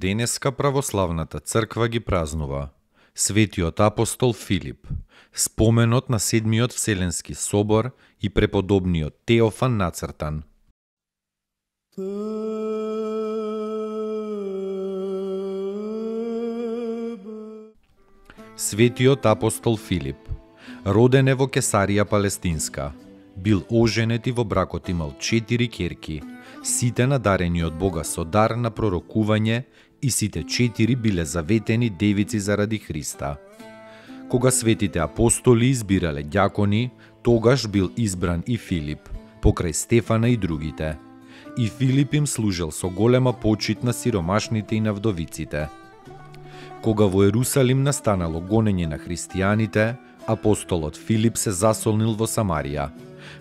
Денеска православната црква ги празнува Светиот апостол Филип, споменот на Седмиот Вселенски собор и преподобниот Теофан нацртан. Светиот апостол Филип, роден е во Кесарија Палестинска, бил оженет и во бракот имал 4 ќерки, сите надарени од Бога со дар на пророкување и сите 4 биле заветени девици заради Христа. Кога светите апостоли избирале ѓакони, тогаш бил избран и Филип, покрај Стефана и другите. И Филип им служел со голема почит на сиромашните и на вдовиците. Кога во Ерусалим настанало гонење на христијаните, апостолот Филип се засолнил во Самарија.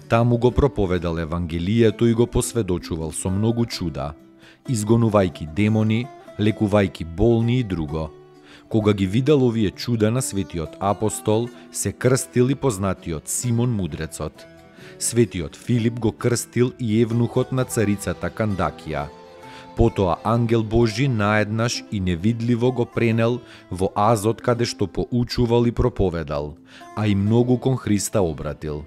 Таму го проповедал Евангелието и го посведочувал со многу чуда, изгонувајќи демони, лекувајќи болни и друго. Кога ги видел овие чуда на светиот апостол, се крстил и познатиот Симон Мудрецот. Светиот Филип го крстил и евнухот на царицата Кандакија. Потоа ангел Божи наеднаш и невидливо го пренел во Азот каде што поучувал и проповедал, а и многу кон Христа обратил.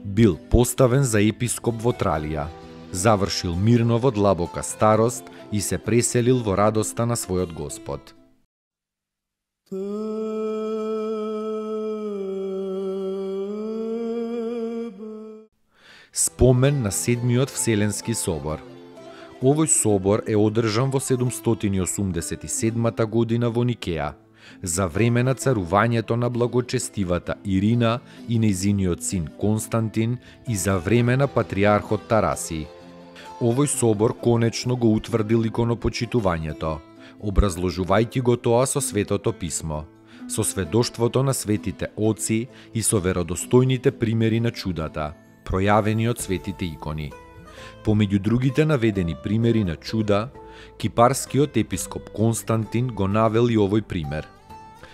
Бил поставен за епископ во Тралија, завршил мирно во длабока старост и се преселил во радоста на својот Господ. Спомен на Седмиот Вселенски собор. Овој собор е одржан во 787 година во Никеја, за време на царувањето на благочестивата Ирина и нејзиниот син Константин и за време на патриархот Тараси. Овој собор конечно го утврдил иконопочитувањето, образложувајќи го тоа со Светото писмо, со сведоштвото на светите оци и со веродостојните примери на чудата, пројавени од светите икони. Помеѓу другите наведени примери на чуда, кипарскиот епископ Константин го навел и овој пример.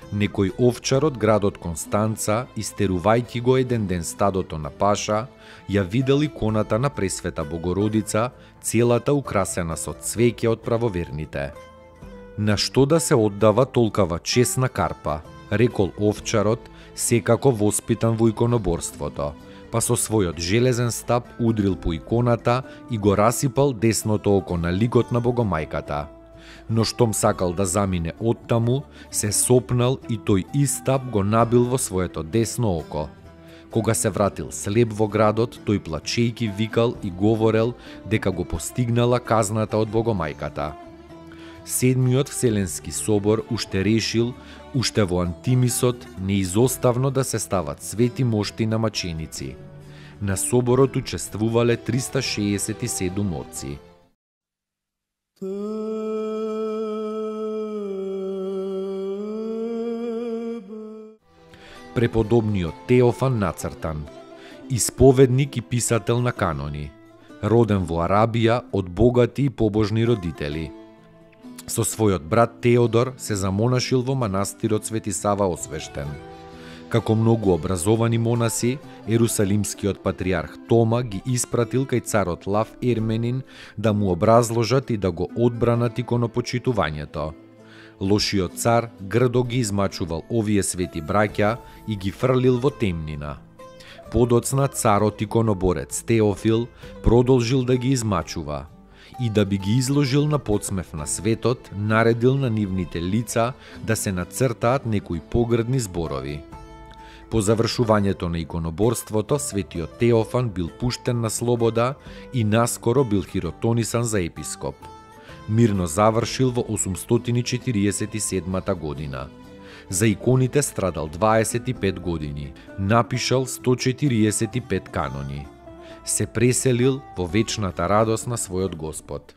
Некој овчар од градот Констанца, истерувајќи го еден ден стадото на паша, ја видел иконата на Пресвета Богородица, целата украсена со цвеќе од правоверните. На што да се оддава толкава чесна карпа, рекол овчарот, секако воспитан во иконоборството, па со својот железен стап удрил по иконата и го расипал десното око на ликот на Богомајката. Но штом сакал да замине оттаму, се сопнал и тој истап го набил во своето десно око. Кога се вратил слеп во градот, тој плачејки викал и говорел дека го постигнала казната од Богомајката. Седмиот Вселенски собор уште решил, уште во Антимисот, неизоставно да се стават свети мошти на маченици. На соборот учествувале 367 отци. Преподобниот Теофан нацртан, исповедник и писател на канони, роден во Арабија од богати и побожни родители. Со својот брат Теодор се замонашил во манастирот Свети Сава Освештен. Како многу образовани монаси, ерусалимскиот патриарх Тома ги испратил кај царот Лав Ерменин да му образложат и да го одбранат иконопочитувањето. Лошиот цар грдо ги измачувал овие свети браќа и ги фрлил во темнина. Подоцна царот иконоборец Теофил продолжил да ги измачува и да би ги изложил на подсмев на светот, наредил на нивните лица да се нацртаат некои погрдни зборови. По завршувањето на иконоборството, светиот Теофан бил пуштен на слобода и наскоро бил хиротонисан за епископ. Мирно завршил во 847 година. За иконите страдал 25 години, напишал 145 канони. се преселил во вечната радост на својот Господ.